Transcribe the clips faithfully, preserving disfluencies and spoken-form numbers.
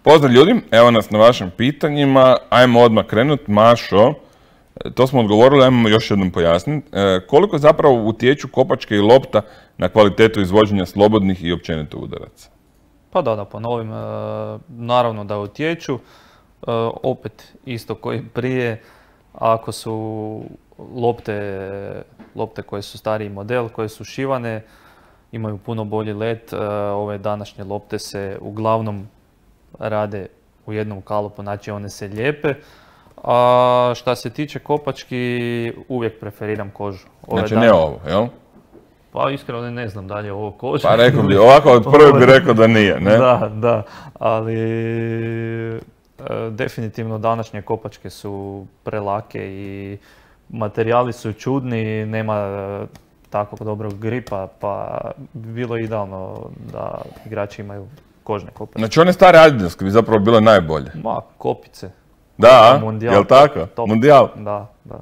Pozdrav ljudi, evo nas na vašim pitanjima, ajmo odmah krenut. Mašo, to smo odgovorili, ajmo još jednom pojasniti. E, koliko zapravo utječu kopačke i lopta na kvalitetu izvođenja slobodnih i općenito udaraca? Pa da, da ponovim, e, naravno da utječu. E, opet, isto koji prije, ako su lopte, lopte koje su stariji model, koje su šivane, imaju puno bolji let. E, ove današnje lopte se uglavnom rade u jednom kalupu, znači one se lijepe. A šta se tiče kopački, uvijek preferiram kožu. Ove znači dana... ne ovo, jel? Pa iskreno ne znam da li je ovo koža. Pa rekao bi, ovako od prve bi rekao da nije, ne? Da, da, ali e, definitivno današnje kopačke su prelake i materijali su čudni, nema takvog dobrog gripa, pa bi bilo idealno da igrači imaju kožne kopačke. Znači one stare adidovske bi zapravo bile najbolje? Ma, kopice. Da, Mundijal, jel tako? Top. Mundijal? Da, da.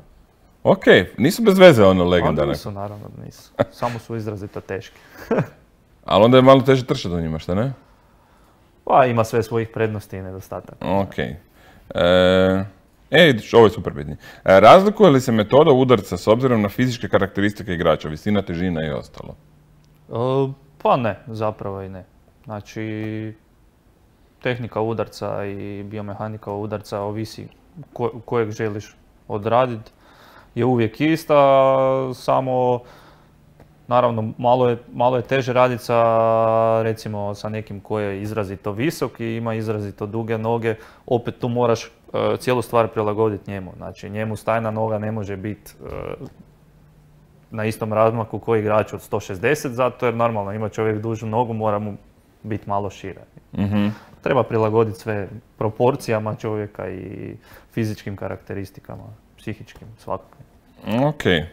Ok, nisu bez veze ono legendarne. Nisu, naravno nisu. Samo su izrazito teški. Ali onda je malo teže trčati u njima, šta ne? Pa ima sve svojih prednosti i nedostataka. Ok. E, e, ovo je super pitanje. E, razlikuje li se metoda udarca s obzirom na fizičke karakteristike igrača, visina, težina i ostalo? E, pa ne, zapravo i ne. Znači, tehnika udarca i biomehanika udarca ovisi ko, kojeg želiš odraditi. Je uvijek ista, samo naravno malo je, malo je teže raditi sa, recimo, sa nekim koji je izrazito visok i ima izrazito duge noge. Opet tu moraš uh, cijelu stvar prilagoditi njemu. Znači njemu stajna noga ne može biti uh, na istom razmaku koji igrač od sto šezdeset, zato jer normalno ima čovjek dužu nogu, mora mu biti malo šire. Mm-hmm. Treba prilagoditi sve proporcijama čovjeka i fizičkim karakteristikama, psihičkim, svakakvim. Ok. E,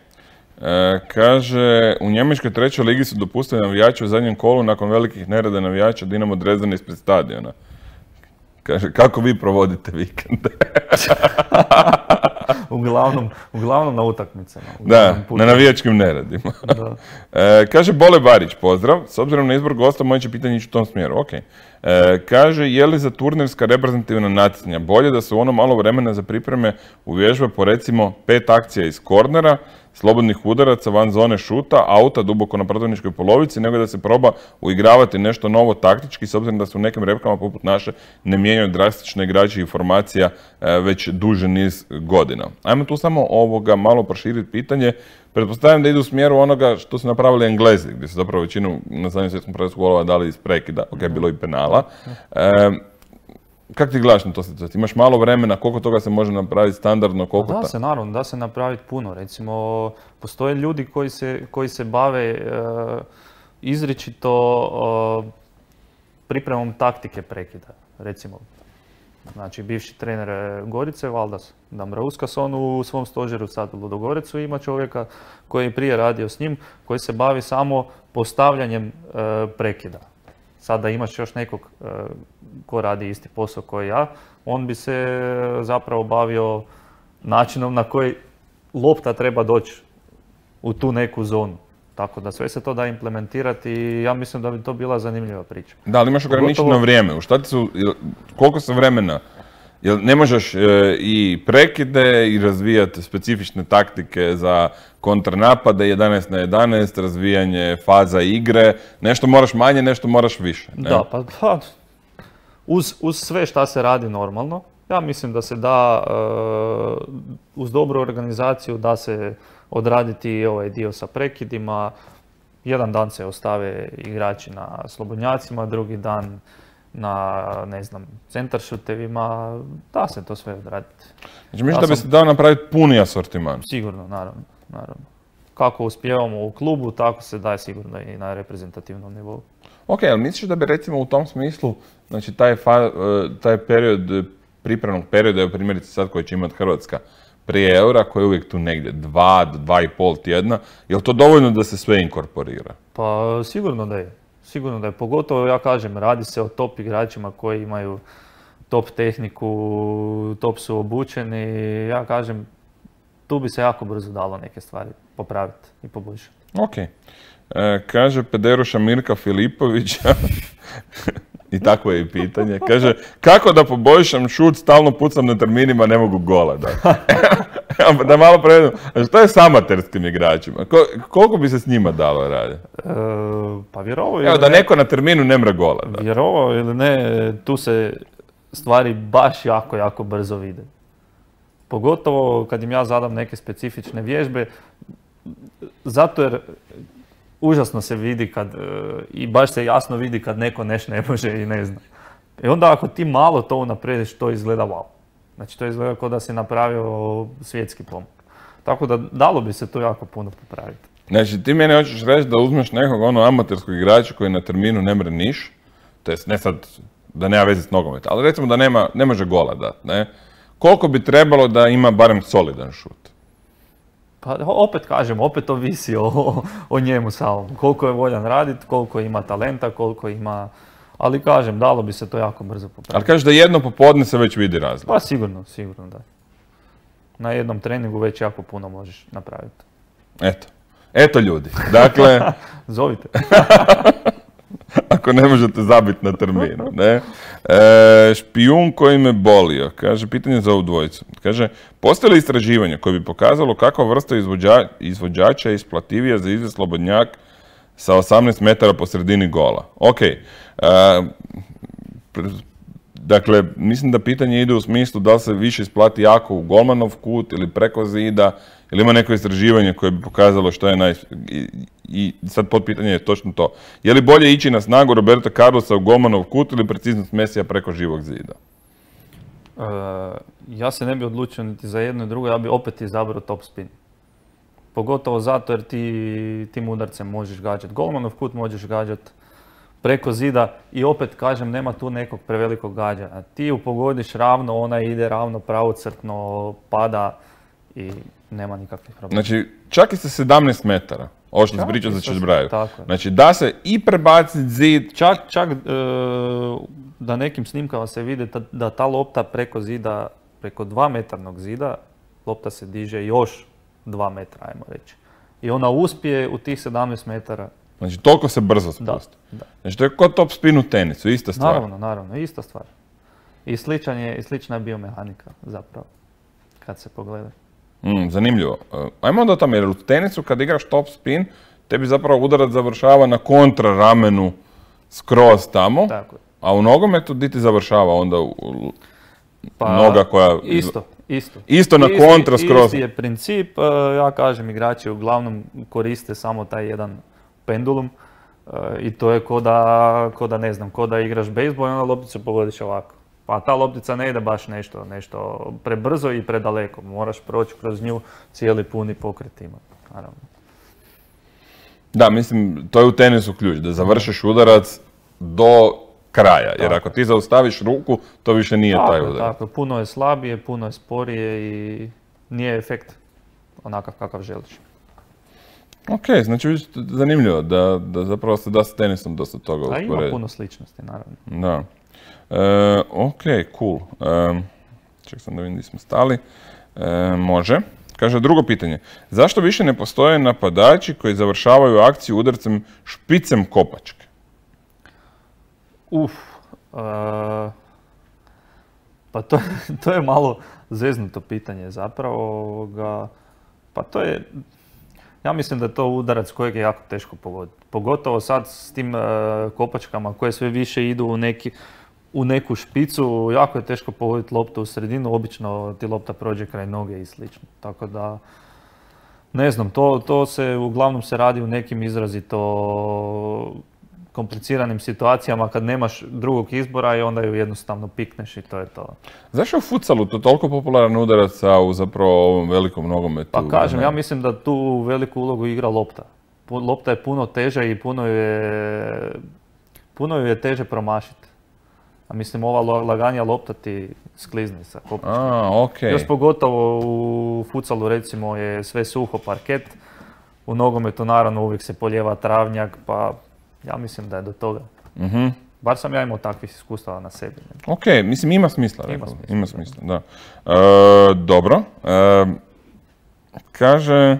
kaže, u Njemačkoj trećoj ligi su dopustili navijači u zadnjem kolu nakon velikih nereda navijača Dinamo Dresdena ispred stadiona. Kaže, kako vi provodite vikende? uglavnom, uglavnom na utakmicama. Da, na navijačkim neredima. Da. E, kaže Bole Barić, pozdrav. S obzirom na izbor gosta, moje će pitanje ići u tom smjeru. Ok. E, kaže, je li za turnirska reprezentativna natjecanja bolje da se u ono malo vremena za pripreme uvježba po recimo pet akcija iz kornera, slobodnih udaraca, van zone šuta, auta duboko na protivničkoj polovici, nego da se proba uigravati nešto novo taktički, s obzirom da se u nekim repkama poput naše ne mijenjaju drastične igrači i formacija e, već duže niz godina. Ajmo tu samo ovoga malo proširiti pitanje. Pretpostavljam da ide u smjeru onoga što su napravili Englezi, gdje su zapravo većinu na zadnjem svjetskom prvenstvu golova dali iz prekida, ok, bilo i penala. E, Kako ti gledaš na to situaciju? Imaš malo vremena, koliko toga se može napraviti standardno, koliko... Da se, naravno, da se napraviti puno. Recimo, postoje ljudi koji se, koji se bave e, izričito e, pripremom taktike prekida. Recimo, znači, bivši trener Gorice, Valdas Dambrauskas, on u svom stožeru sad u Ludogorecu ima čovjeka koji je prije radio s njim, koji se bavi samo postavljanjem e, prekida. Sada imaš još nekog uh, ko radi isti posao koji ja, on bi se zapravo bavio načinom na koji lopta treba doći u tu neku zonu. Tako da sve se to da implementirati i ja mislim da bi to bila zanimljiva priča. Da, ali imaš ograničeno Gotovo... vrijeme. U šta ti su, koliko se vremena? Jel ne možeš e, i prekide i razvijati specifične taktike za kontranapade, jedanaest na jedanaest, razvijanje faza igre, nešto moraš manje, nešto moraš više. Ne? Da, pa, pa uz, uz sve šta se radi normalno, ja mislim da se da, uh, uz dobru organizaciju da se odraditi ovaj dio sa prekidima. Jedan dan se ostave igrači na slobodnjacima, drugi dan na, ne znam, centaršutevima, da se to sve odraditi. Znači, mislim da bi se dao napraviti puni asortiman? Sigurno, naravno, naravno. Kako uspijevamo u klubu, tako se daje sigurno i na reprezentativnom nivou. Ok, ali misliš da bi recimo u tom smislu, znači taj, fa, taj period, pripremnog perioda, evo primjerice sad koji će imati Hrvatska prije eura, koji je uvijek tu negdje dva, dva i pol tjedna, je li to dovoljno da se sve inkorporira? Pa sigurno da je. Sigurno da je, pogotovo ja kažem, radi se o top igračima koji imaju top tehniku, top su obučeni, ja kažem, tu bi se jako brzo dalo neke stvari popraviti i poboljšati. Ok. E, kaže Pederuša Mirka Filipovića, i takvo je i pitanje. Kaže, kako da poboljšam šut, stalno pucam na terminima, ne mogu gola da. Da malo prevedem, što je s amaterskim igračima? Ko, koliko bi se s njima dalo raditi? E, pa vjerovao ili Evo, da ne, neko na terminu ne mre gola. Da. vjerovao ili ne, tu se stvari baš jako, jako brzo vide. Pogotovo kad im ja zadam neke specifične vježbe, zato jer užasno se vidi kad, i baš se jasno vidi kad neko neš ne može i ne zna. I onda ako ti malo to unaprediš, to izgleda wow. Znači to izgleda kao da si napravio svjetski pomak. Tako da dalo bi se to jako puno popraviti. Znači ti meni hoćeš reći da uzmeš nekog ono amaterskog igrača koji na terminu ne mre niš, to jest ne sad da nema veze s nogometa, ali recimo da nema, ne može gola dat, ne? Koliko bi trebalo da ima barem solidan šut? Pa opet kažem, opet ovisi o, o njemu samom. Koliko je voljan raditi, koliko ima talenta, koliko ima... Ali kažem, dalo bi se to jako brzo popraviti. Ali kažeš da jedno popodne se već vidi razlika. Pa sigurno, sigurno da. Na jednom treningu već jako puno možeš napraviti. Eto. Eto ljudi. Dakle... Zovite. Ako ne možete zabiti na terminu, ne? E, špijun koji me bolio, kaže, pitanje za ovu dvojicu. Kaže, postoje li istraživanje koje bi pokazalo kakva vrsta izvođa, izvođača je isplativija za izvest slobodnjak sa osamnaest metara po sredini gola? Ok. E, dakle, mislim da pitanje ide u smislu da li se više isplati jako u golmanov kut ili preko zida, ili ima neko istraživanje koje bi pokazalo što je naj... I, i sad potpitanje je točno to. Je li bolje ići na snagu Roberta Carlosa u golmanov kut ili preciznost Mesija preko živog zida? Uh, ja se ne bi odlučio niti za jedno i drugo, ja bi opet izabrao top spin. Pogotovo zato jer ti tim udarcem možeš gađati golmanov kut, možeš gađati preko zida i opet kažem, nema tu nekog prevelikog gađanja. Ti ju pogodiš ravno, ona ide ravno pravocrtno, pada i nema nikakvih problema. Znači, čak i sa sedamnaest metara, ovo što se priča za Čežbraju. Tako je. Znači, da se i prebaciti zid... Čak, čak e, da nekim snimkama se vidi ta, da ta lopta preko zida, preko dva metarnog zida, lopta se diže još dva metra, ajmo reći. I ona uspije u tih sedamnaest metara. Znači, toliko se brzo spusti. Da, da. Znači, to je kod top spin u tenisu, ista stvar. Naravno, naravno, ista stvar. I sličan je, i slična je biomehanika, zapravo, kad se pogleda. Mm, zanimljivo. Uh, ajmo onda o tome, jer u tenisu kad igraš top spin, tebi zapravo udarac završava na kontra ramenu skroz tamo, Tako je. a u nogometu di ti završava onda u, u Pa, noga koja... Isto, isto. Isto na Isti- kontra skroz. Isti je princip, uh, ja kažem, igrači uglavnom koriste samo taj jedan pendulum uh, i to je ko da, ko da ne znam, ko da igraš bejsbol i onda lopticu pogodiš ovako. Pa ta loptica ne ide baš nešto, nešto prebrzo i predaleko, moraš proći kroz nju, cijeli puni pokret ima, naravno. Da, mislim, to je u tenisu ključ, da završiš udarac do kraja, jer Tako. ako ti zaustaviš ruku, to više nije Tako taj je, udarac. tako je. Puno je slabije, puno je sporije i nije efekt onakav kakav želiš. Ok, znači vidiš, zanimljivo da, da zapravo se da s tenisom dosta toga A ima usporediti. puno sličnosti, naravno. Da. E, ok, cool. E, ček sam da vidim gdje smo stali. E, može. Kaže, drugo pitanje. Zašto više ne postoje napadači koji završavaju akciju udarcem špicem kopačke? Uf, e, pa to, to je malo zeznuto pitanje zapravo. Ga, pa to je, ja mislim da je to udarac kojeg je jako teško pogoditi. Pogotovo sad s tim e, kopačkama koje sve više idu u, neki, u neku špicu, jako je teško pogoditi loptu u sredinu, obično ti lopta prođe kraj noge i slično. Tako da, ne znam, to, to se uglavnom se radi u nekim izrazito kompliciranim situacijama kad nemaš drugog izbora i onda ju jednostavno pikneš i to je to. Zašto je u futsalu to toliko popularan udarac, a u zapravo ovom velikom nogometu? Pa kažem, ja mislim da tu veliku ulogu igra lopta. Pu- Lopta je puno teža i puno ju je, puno ju je teže promašiti. A mislim, ova lo- laganija lopta ti sklizne sa kopačkom. A, ok. Još pogotovo u futsalu recimo je sve suho, parket. U nogometu naravno uvijek se polijeva travnjak, pa ja mislim da je do toga. Mhm. Bar sam ja imao takvih iskustava na sebi. ne. Ok, mislim ima smisla. Ima rekao bi. smisla, Ima da. smisla, da. E, dobro. E, kaže,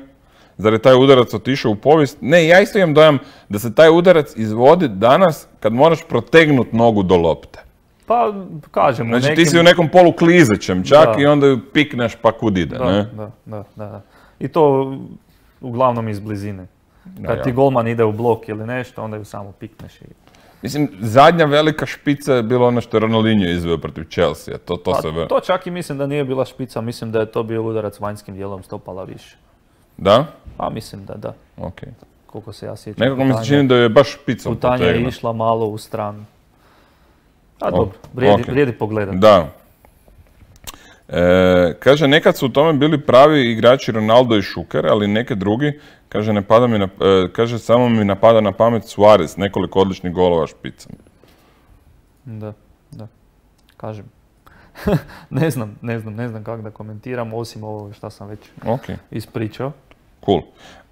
zar je taj udarac otišao u povijest? Ne, ja isto imam dojam da se taj udarac izvodi danas kad moraš protegnut nogu do lopte. Pa, kažem, znači nekim... ti si u nekom polu klizećem čak da. I onda ju pikneš pa kud ide, da, ne? Da, da, da, da. I to uglavnom iz blizine. Kad ja. ti golman ide u blok ili nešto, onda ju samo pikneš i... Mislim, zadnja velika špica je bilo ono što je Ronaldinho izveo protiv Chelsea. To, to, pa, se... to čak i mislim da nije bila špica, mislim da je to bio udarac vanjskim dijelom stopala više. Da? Pa mislim da da. Ok. Koliko se ja sjećam. Nekako mi se čini da je baš špicom putanja potegna. je išla malo u stranu. A O, dobro, vrijedi, okay. vrijedi pogledati. Da. E, kaže, nekad su u tome bili pravi igrači Ronaldo i Šuker, ali neke drugi, kaže, ne pada mi na, e, kaže, samo mi napada na pamet Suarez, nekoliko odličnih golova špicom. Da, da, kažem. ne znam, ne znam, ne znam kako da komentiram, osim ovo što sam već okay. ispričao. Cool.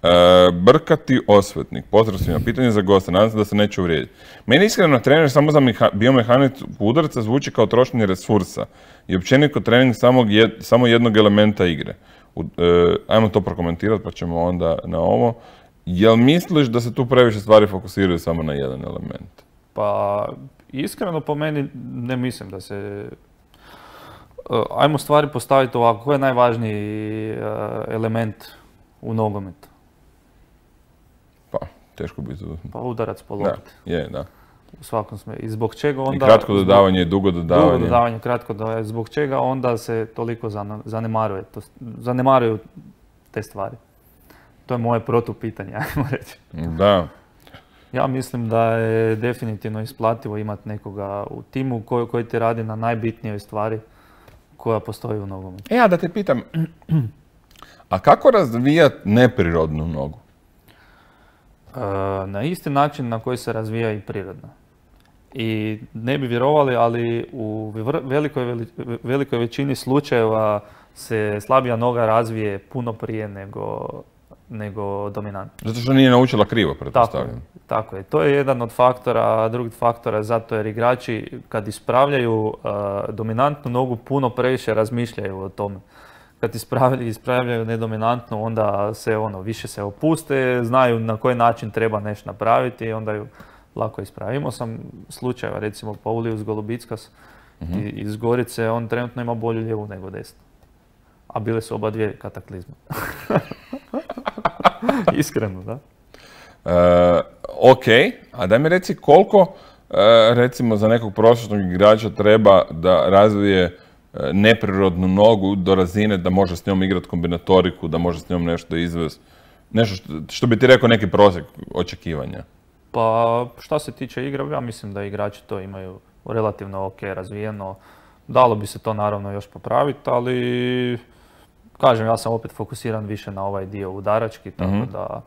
E, Brkati Osvetnik, pozdrav svima, pitanje za gosta, nadam se da se neće uvrijediti. Meni iskreno trener samo za meha, biomehaniku udarca zvuči kao trošenje resursa i općenito trening samog jed, samo jednog elementa igre. U, e, ajmo to prokomentirati pa ćemo onda na ovo. Jel misliš da se tu previše stvari fokusiraju samo na jedan element? Pa, iskreno po meni ne mislim da se... Uh, ajmo stvari postaviti ovako, koji je najvažniji uh, element u nogometu? Pa, teško biti. Pa udarac po lopti. Da, je, da. U svakom smislu. I zbog čega onda... I kratko dodavanje i dugo dodavanje. Dugo dodavanje, kratko dodavanje. Zbog čega onda se toliko zanemaruje, to, zanemaruju te stvari? To je moje protupitanje, ajmo reći. Da. Ja mislim da je definitivno isplativo imati nekoga u timu koji, koji ti radi na najbitnijoj stvari koja postoji u nogometu. E, ja da te pitam, a kako razvijati neprirodnu nogu? E, na isti način na koji se razvija i prirodna. I ne bi vjerovali, ali u velikoj, velikoj većini slučajeva se slabija noga razvije puno prije nego, nego dominantna. Zato što nije naučila krivo, pretpostavljam. Tako, tako je. To je jedan od faktora, a drugi faktor je zato jer igrači kad ispravljaju uh, dominantnu nogu puno previše razmišljaju o tome. Kad ispravljaju, ispravljaju nedominantnu, onda se ono, više se opuste, znaju na koji način treba nešto napraviti i onda ju lako ispravi. Imao sam slučajeva, recimo Paulius Golubickas uh-huh. iz Gorice, on trenutno ima bolju lijevu nego desnu. A bile su oba dvije kataklizme. Iskreno, da. E, ok, a daj mi reci koliko, e, recimo za nekog prosječnog igrača treba da razvije e, neprirodnu nogu do razine da može s njom igrati kombinatoriku, da može s njom nešto izvesti. Nešto što, što bi ti rekao neki prosjek očekivanja. Pa šta se tiče igre, ja mislim da igrači to imaju relativno ok razvijeno. Dalo bi se to naravno još popraviti, ali kažem, ja sam opet fokusiran više na ovaj dio udarački, tako mm-hmm. da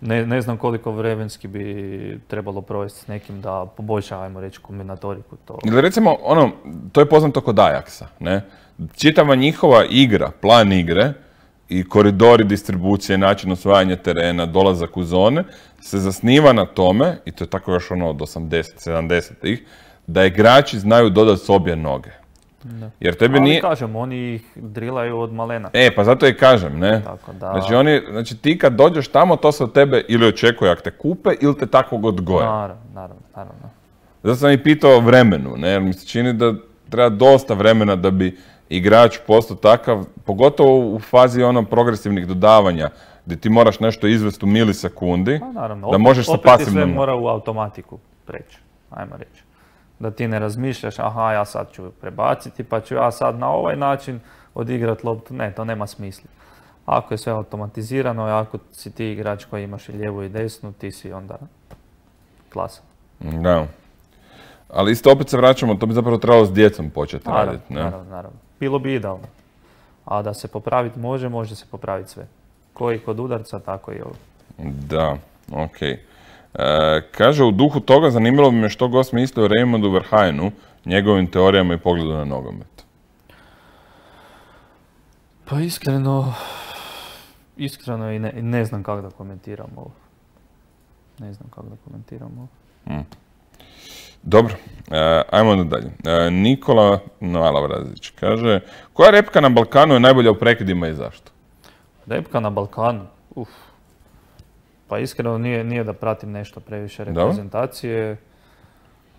ne, ne znam koliko vremenski bi trebalo provesti s nekim da poboljša, ajmo reći, kombinatoriku. To. Ili recimo, ono, to je poznato kod Ajaxa, ne? Čitava njihova igra, plan igre i koridori distribucije, način osvajanja terena, dolazak u zone, se zasniva na tome, i to je tako još ono od osamdeset sedamdesetih, da igrači znaju dodati s obje noge. Da. Jer tebi ali nije... kažem, oni ih drilaju od malena. E, pa zato i kažem, ne? Tako da... Znači, oni, znači ti kad dođeš tamo, to se od tebe ili očekuje ako te kupe, ili te takvog odgoje. Naravno, naravno, naravno. Zato sam i pitao o vremenu, ne? Jer mi se čini da treba dosta vremena da bi igrač postao takav, pogotovo u fazi ono progresivnih dodavanja, gdje ti moraš nešto izvesti u milisekundi, pa, naravno. da opet, možeš sa pasivnom... Opet ti sve mora u automatiku preći, ajmo reći. Da ti ne razmišljaš, aha, ja sad ću prebaciti, pa ću ja sad na ovaj način odigrat loptu. Ne, to nema smisla. Ako je sve automatizirano i ako si ti igrač koji imaš i lijevu i desnu, ti si onda klasan. Da. Ali isto opet se vraćamo, to bi zapravo trebalo s djecom početi naravno, raditi. Ne? Naravno, naravno. Bilo bi idealno. A da se popraviti može, može se popraviti sve. Koji kod udarca, tako i ovo. Da, okej. Okay. E, kaže, u duhu toga zanimalo bi me što gost misli o Raymondu Verheijenu, njegovim teorijama i pogledu na nogomet. Pa iskreno, iskreno i ne, ne znam kako da komentiram ovo. Ne znam kako da komentiram ovo. Hmm. Dobro, e, ajmo onda dalje. E, Nikola Nalavrazić kaže, koja repka na Balkanu je najbolja u prekidima i zašto? Repka na Balkanu? uf. Pa iskreno nije, nije da pratim nešto previše reprezentacije.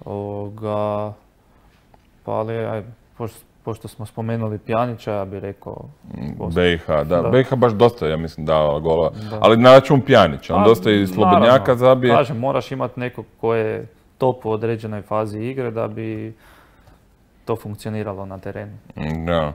Ovoga, pa ali, aj, pošto, pošto smo spomenuli Pjanića, ja bih rekao... B i H, da. da. B i H baš dosta, ja mislim, dao golova. Da. Ali na račun Pjanića, on pa, dosta i slobodnjaka zabije. Kažem, moraš imati nekog ko je top u određenoj fazi igre da bi to funkcioniralo na terenu. Da.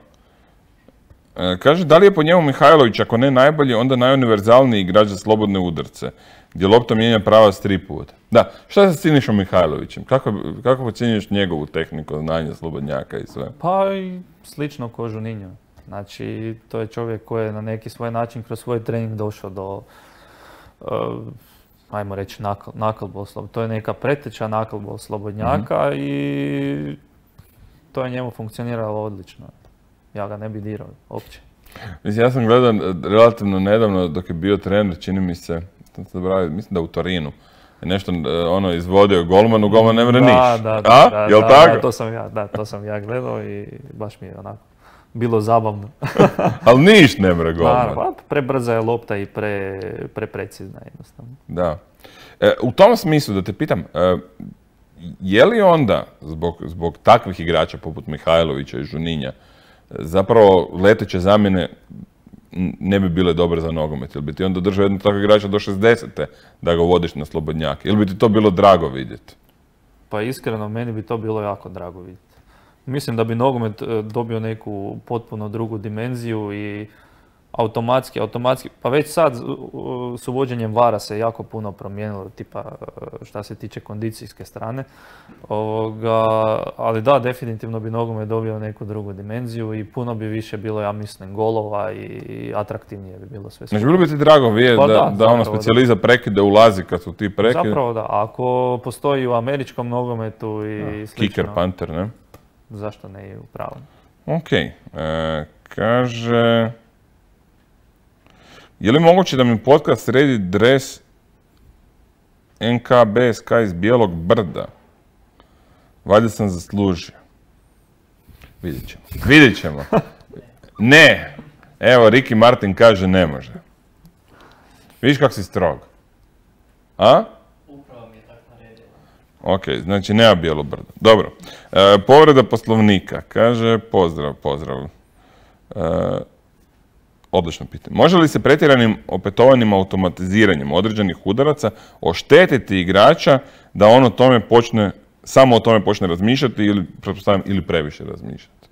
E, kaže, da li je po njemu Mihajlović, ako ne najbolji, onda najuniverzalniji igrač za slobodne udarce, gdje lopta mijenja pravac tri puta. Da, šta se Sinišom Mihajlovićem? Kako, kako ocjenjuješ njegovu tehniku, znanje slobodnjaka i sve? Pa i slično ko Juninho. Znači, to je čovjek koji je na neki svoj način kroz svoj trening došao do, uh, ajmo reći, nakl, naklbol. To je neka preteča naklbol slobodnjaka mm-hmm. i to je njemu funkcioniralo odlično. Ja ga ne bi dirao uopće. Mislim, ja sam gledao relativno nedavno dok je bio trener, čini mi se, mislim da u Torinu, je nešto ono izvodio golmanu, golman ne mre niš. Da, da, A? da, Jel da, tako? da, to sam ja, da, to sam ja gledao i baš mi je onako bilo zabavno. Ali niš ne mre golman. Da, prebrza je lopta i pre, preprecizna jednostavno. Da. E, u tom smislu da te pitam, e, je li onda zbog, zbog takvih igrača poput Mihajlovića i Juninha zapravo leteće zamjene ne bi bile dobre za nogomet? Ili bi ti onda držao jednog takvog igrača do šezdesete da ga vodiš na slobodnjake? Ili bi ti to bilo drago vidjeti? Pa iskreno, meni bi to bilo jako drago vidjeti. Mislim da bi nogomet dobio neku potpuno drugu dimenziju i automatski, automatski, pa već sad s uvođenjem vara se jako puno promijenilo, tipa šta se tiče kondicijske strane. Ovoga, ali da, definitivno bi nogomet dobio neku drugu dimenziju i puno bi više bilo, ja mislim, golova i atraktivnije bi bilo sve. Znači, bilo bi ti drago vidjeti pa da, da, da ono specijaliza prekide ulazi kad su ti prekide? Zapravo da, ako postoji u američkom nogometu i slično. Kicker, punter, ne? Zašto ne i u pravom? Ok, e, kaže... Je li moguće da mi podcast sredi dres N K B S K iz Bijelog brda? Valjda sam zaslužio. Vidjet ćemo. Vidjet ćemo. Ne. Evo, Ricky Martin kaže ne može. Vidiš kako si strog. A? Upravo mi je tako naredila. Ok, znači nema Bijelo brdo. Dobro. E, povreda poslovnika. Kaže pozdrav, pozdrav. E, Odlično pitanje. Može li se pretjeranim opetovanim automatiziranjem određenih udaraca oštetiti igrača da on o tome počne, samo o tome počne razmišljati ili, pretpostavljam, ili previše razmišljati?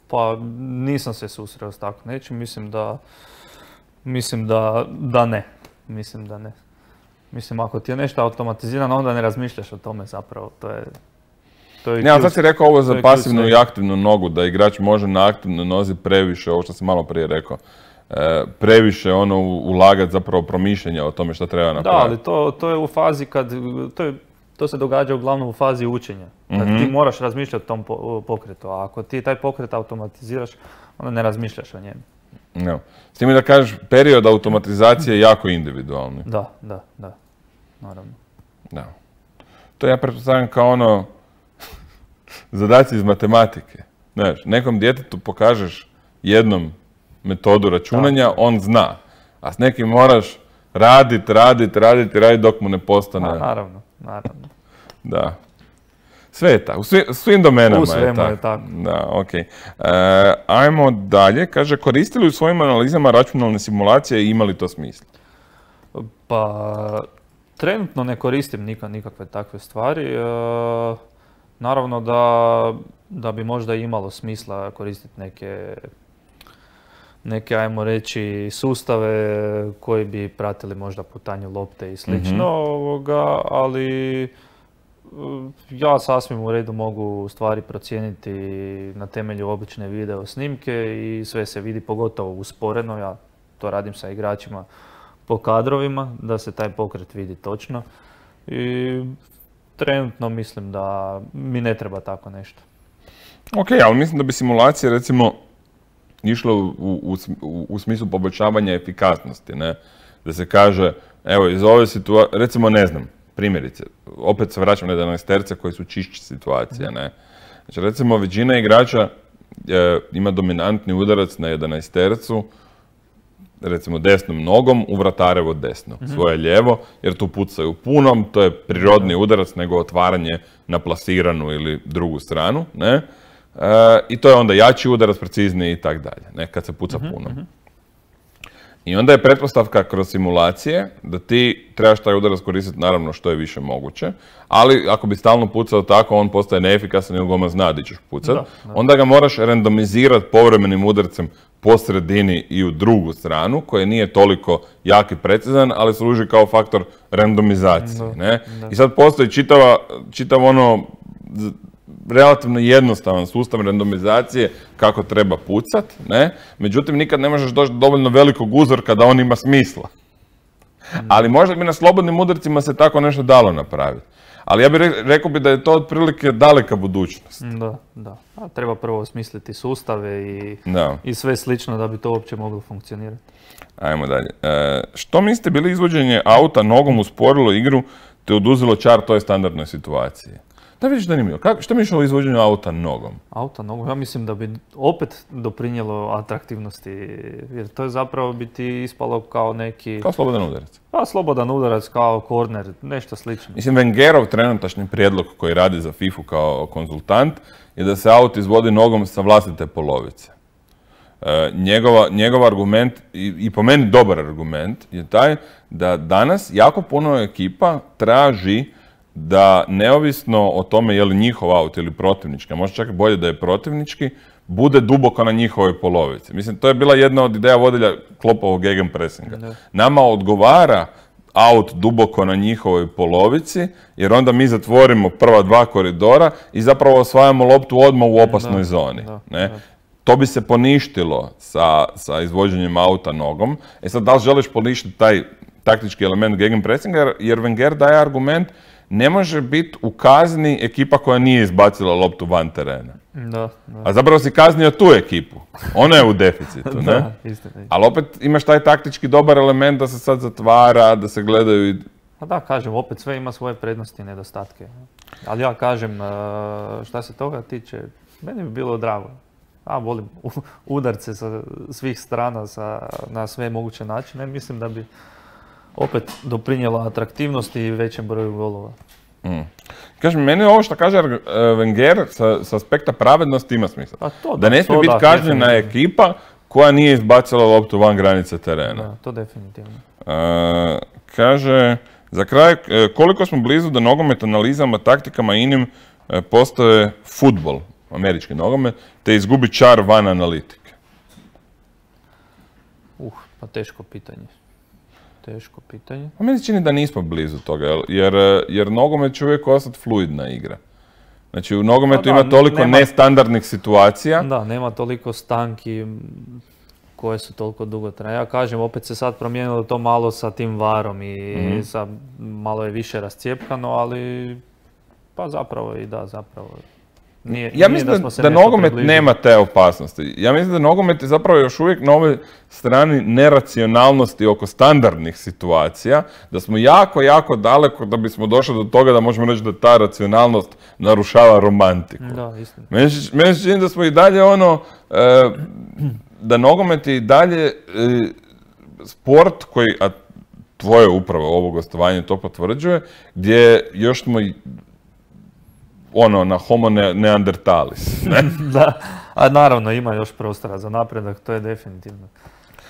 Pa nisam se susreo s tako nečim. Mislim da, mislim da, da ne. Mislim da ne. Mislim, ako ti je nešto automatizirano, onda ne razmišljaš o tome zapravo. To je... Ne, ali sad si rekao ovo za pasivnu i aktivnu nogu, da igrač može na aktivnoj nozi previše, ovo što sam malo prije rekao, e, previše ono ulagati zapravo promišljenja o tome što treba napraviti. Da, ali to, to je u fazi kad, to, je, to se događa uglavnom u fazi učenja. Kad mm-hmm. ti moraš razmišljati o tom pokretu, a ako ti taj pokret automatiziraš, onda ne razmišljaš o njemu. No. S tim da kažeš, period automatizacije je jako individualni. Da, da, da, naravno. Da. To ja pretpostavljam kao ono, zadaci iz matematike. Znaš, nekom djetetu pokažeš jednom metodu računanja, da. On zna. A s nekim moraš radit, radit, radit, radit dok mu ne postane. A, naravno, naravno. Da. Sve je tako. U svim, svim domenama u svemu je tako. je tako. Da, ok. E, ajmo dalje. Kaže, koristili u svojim analizama računalne simulacije i imali to smisla? Pa, trenutno ne koristim nikad nikakve takve stvari. E, Naravno da, da bi možda imalo smisla koristiti neke, neke, ajmo reći, sustave koji bi pratili možda putanju lopte i slično, mm-hmm. ovoga, ali ja sasvim u redu mogu stvari procijeniti na temelju obične video snimke i sve se vidi, pogotovo usporeno. Ja to radim sa igračima po kadrovima, da se taj pokret vidi točno. I trenutno mislim da mi ne treba tako nešto. Ok, ali mislim da bi simulacije recimo išle u, u, u, u smislu poboljšavanja efikasnosti, ne? Da se kaže, evo iz ove situacije, recimo ne znam, primjerice, opet se vraćam na jedanaesterce koji su čišći situacija, ne? Znači recimo većina igrača e, ima dominantni udarac na jedanaestercu, recimo desnom nogom u vratarevo desno, svoje lijevo, jer tu pucaju punom, to je prirodni udarac nego otvaranje na plasiranu ili drugu stranu, ne? E, I to je onda jači udarac, precizniji i tak dalje, ne? Kad se puca punom. I onda je pretpostavka kroz simulacije da ti trebaš taj udarac koristiti naravno što je više moguće, ali ako bi stalno pucao tako, on postaje neefikasan ili goma zna di ćeš pucat, Da, da. onda ga moraš randomizirati povremenim udarcem po sredini i u drugu stranu, koje nije toliko jak i precizan, ali služi kao faktor randomizacije. Da, Ne? da. I sad postoji čitava, čitav ono z- relativno jednostavan sustav randomizacije kako treba pucat, ne? Međutim, nikad ne možeš doći do dovoljno velikog uzorka da on ima smisla. Ali možda bi na slobodnim udarcima se tako nešto dalo napraviti. Ali ja bih re- rekao bi da je to otprilike daleka budućnost. Da, da. A treba prvo osmisliti sustave i, Da. i sve slično da bi to uopće moglo funkcionirati. Ajmo dalje. E, što mislite, bi li izvođenje auta nogom usporilo igru te oduzelo čar toj standardnoj situaciji? Da vidiš zanimljivo. Kako, što misliš o izvođenju auta nogom? Auta nogu, ja mislim da bi opet doprinijelo atraktivnosti, jer to je zapravo bi ti ispalo kao neki, Kao slobodan udarac. pa slobodan udarac, kao korner, nešto slično. Mislim, Wengerov trenutačni prijedlog koji radi za FIFA kao konzultant je da se aut izvodi nogom sa vlastite polovice. E, njegova, njegov argument, i, i po meni dobar argument, je taj da danas jako puno ekipa traži da neovisno o tome je li njihov aut ili protivnički, a možda čak i bolje da je protivnički, bude duboko na njihovoj polovici. Mislim, to je bila jedna od ideja vodilja Kloppovog gegenpressinga. Da. Nama odgovara aut duboko na njihovoj polovici, jer onda mi zatvorimo prva dva koridora i zapravo osvajamo loptu odmah u opasnoj Da, zoni. da, Ne? da. To bi se poništilo sa, sa izvođenjem auta nogom. E sad, da li želiš poništiti taj taktički element gegenpressinga, jer, jer Wenger daje argument, ne može biti u kazni ekipa koja nije izbacila loptu van terena. Da, da. A zapravo si kaznio tu ekipu. Ona je u deficitu, ne? Da, istina. Ali opet imaš taj taktički dobar element da se sad zatvara, da se gledaju i... Pa da, kažem, opet sve ima svoje prednosti i nedostatke. Ali ja kažem, e, šta se toga tiče, meni bi bilo drago. A volim u- udarce sa svih strana sa, na sve moguće načine. Mislim da bi opet doprinijela atraktivnosti i većem broju golova. Mm. Kažem, meni ovo što kaže uh, Wenger sa, sa aspekta pravednosti ima smisla. Pa to Da ne smije to biti da, kažnjena definitivno. ekipa koja nije izbacila loptu van granice terena. Da, to definitivno. Uh, kaže, za kraj, uh, koliko smo blizu da nogomet analizama, taktikama i inim uh, postoje futbol, američki nogomet, te izgubi čar van analitike. Uh, pa teško pitanje. Teško pitanje. A meni se čini da nismo blizu toga, jel- jer, uh, jer nogomet će uvijek ostati fluidna igra. Znači, u nogometu Pa da, ima toliko nema- nestandardnih situacija. Da, nema toliko stanki m, koje su toliko dugotrajne. Ja kažem, opet se sad promijenilo to malo sa tim varom i Mhm. sa, malo je više rascijepkano, ali pa zapravo i da, zapravo. Nije, Ja nije mislim da, smo se da nešto nogomet približili. nema te opasnosti. Ja mislim da nogomet je zapravo još uvijek na ovoj strani neracionalnosti oko standardnih situacija, da smo jako, jako daleko da bismo došli do toga da možemo reći da ta racionalnost narušava romantiku. Da, istina. Meni se meni se čini da smo i dalje ono, e, da nogomet je i dalje e, sport koji, a tvoje upravo ovo gostovanje to potvrđuje, gdje još smo i ono, na homo ne, neandertalis, ne? Da, a naravno ima još prostora za napredak, to je definitivno.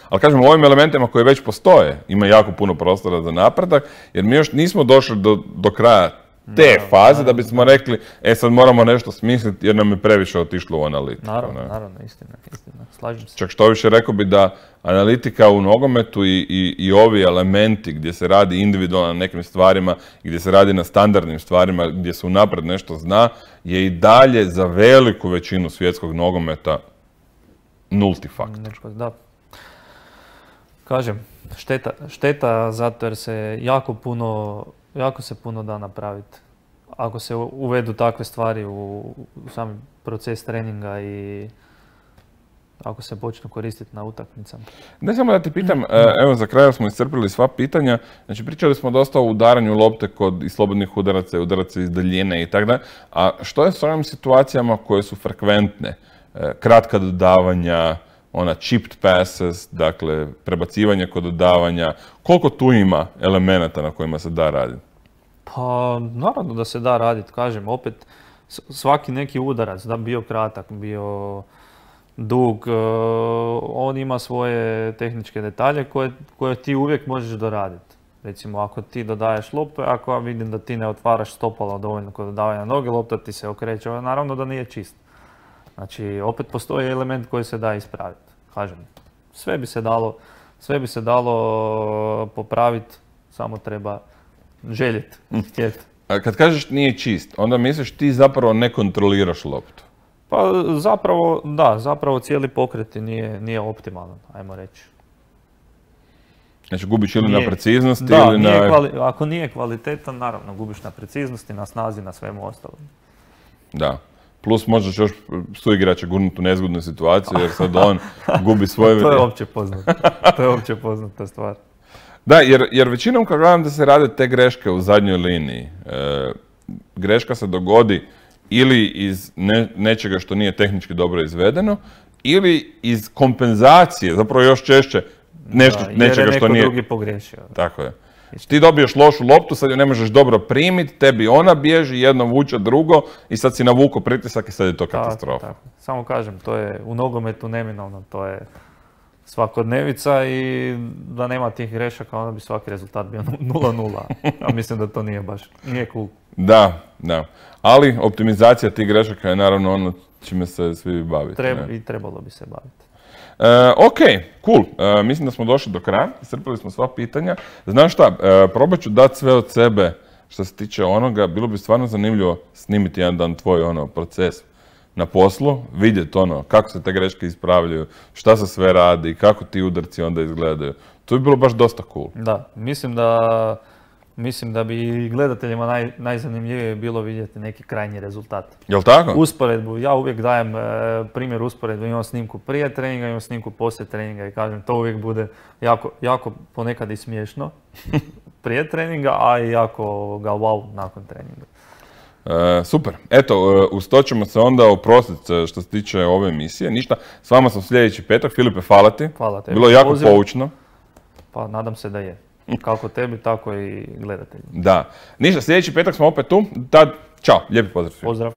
Ali kažem, u ovim elementima koji već postoje, ima jako puno prostora za napredak, jer mi još nismo došli do, do kraja te Naravno, faze da bismo rekli, e sad moramo nešto smisliti jer nam je previše otišlo u analitiku. Naravno, ne? naravno, istina, istina. Slažem se. Čak što više rekao bi da analitika u nogometu i, i, i ovi elementi gdje se radi individualno na nekim stvarima, gdje se radi na standardnim stvarima, gdje se unaprijed nešto zna, je i dalje za veliku većinu svjetskog nogometa nulti faktor. Neko, da. Kažem, šteta, šteta zato jer se jako puno, jako se puno da napraviti. Ako se u- uvedu takve stvari u, u sami proces treninga i ako se počnu koristiti na utakmicama. Ne samo da ti pitam, e, evo za kraj smo iscrpili sva pitanja, znači pričali smo dosta o udaranju lopte kod i slobodnih udaraca i udaraca iz daljine i tako dalje, a što je s ovim situacijama koje su frekventne? E, kratka dodavanja, ona chipped passes, dakle prebacivanje kod dodavanja, koliko tu ima elemenata na kojima se da raditi? Pa naravno da se da raditi, kažem, opet s- svaki neki udarac, da bio kratak, bio dug, e, on ima svoje tehničke detalje koje, koje ti uvijek možeš doraditi. Recimo ako ti dodaješ loptu, ako ja vidim da ti ne otvaraš stopala dovoljno kod dodavanja noge, lopta ti se okreće, naravno da nije čist. Znači opet postoji element koji se da ispraviti. Kažem, sve bi se dalo, sve bi se dalo popraviti, samo treba željeti, htjeti. A kad kažeš nije čist, onda misliš ti zapravo ne kontroliraš loptu. Pa zapravo, da, zapravo cijeli pokret ti nije, nije optimalan, ajmo reći. Znači gubiš ili na Nije- preciznosti Da, ili nije na... kvali- ako nije kvalitetan, naravno gubiš na preciznosti, na snazi, na svemu ostalom. Da. Plus možeš još suigrača gurnuti u nezgodnu situaciju jer sad on gubi svoje... To je opće poznato. To je opće poznata stvar. Da, jer, jer većinom kad gledam da se rade te greške u zadnjoj liniji, e, greška se dogodi ili iz ne- nečega što nije tehnički dobro izvedeno, ili iz kompenzacije, zapravo još češće, nešto, Da, jer nečega je neko što nije... drugi pogriješio. Tako je. Ti dobiješ lošu loptu, sad ju ne možeš dobro primiti, tebi ona bježi, jedno vuče drugo i sad si navuko pritisak i sad je to Tako, katastrofa. tako. Samo kažem, to je u nogometu neminovno, to je svakodnevica i da nema tih grešaka, onda bi svaki rezultat bio nula nula. A mislim da to nije baš, nije cool. Da, da. Ali optimizacija tih grešaka je naravno ono čime se svi bavite. Treba, ne? I trebalo bi se baviti. E, ok, cool. E, mislim da smo došli do kraja, iscrpili smo sva pitanja. Znaš šta, e, probat ću dati sve od sebe što se tiče onoga. Bilo bi stvarno zanimljivo snimiti jedan dan tvoj ono, proces na poslu, vidjeti ono, kako se te greške ispravljaju, šta se sve radi, kako ti udarci onda izgledaju. To bi bilo baš dosta cool. Da, mislim da, mislim da bi i gledateljima naj, najzanimljivije bilo vidjeti neki krajnji rezultat. Jel tako? Usporedbu, ja uvijek dajem e, primjer usporedbe, imam snimku prije treninga, imam snimku poslije treninga i kažem to uvijek bude jako, jako ponekad i smiješno prije treninga, a i jako ga wow nakon treninga. E, super. Eto, e, uz to ćemo se onda oprostiti e, što se tiče ove emisije. Ništa, s vama sam sljedeći petak. Filipe, hvala ti. Hvala tebi. Bilo je jako Pozivam. poučno. Pa nadam se da je. Kako tebi, tako i gledateljima. Da. Ništa, sljedeći petak smo opet tu. Tad, čao, lijepi pozdrav svima. Pozdrav.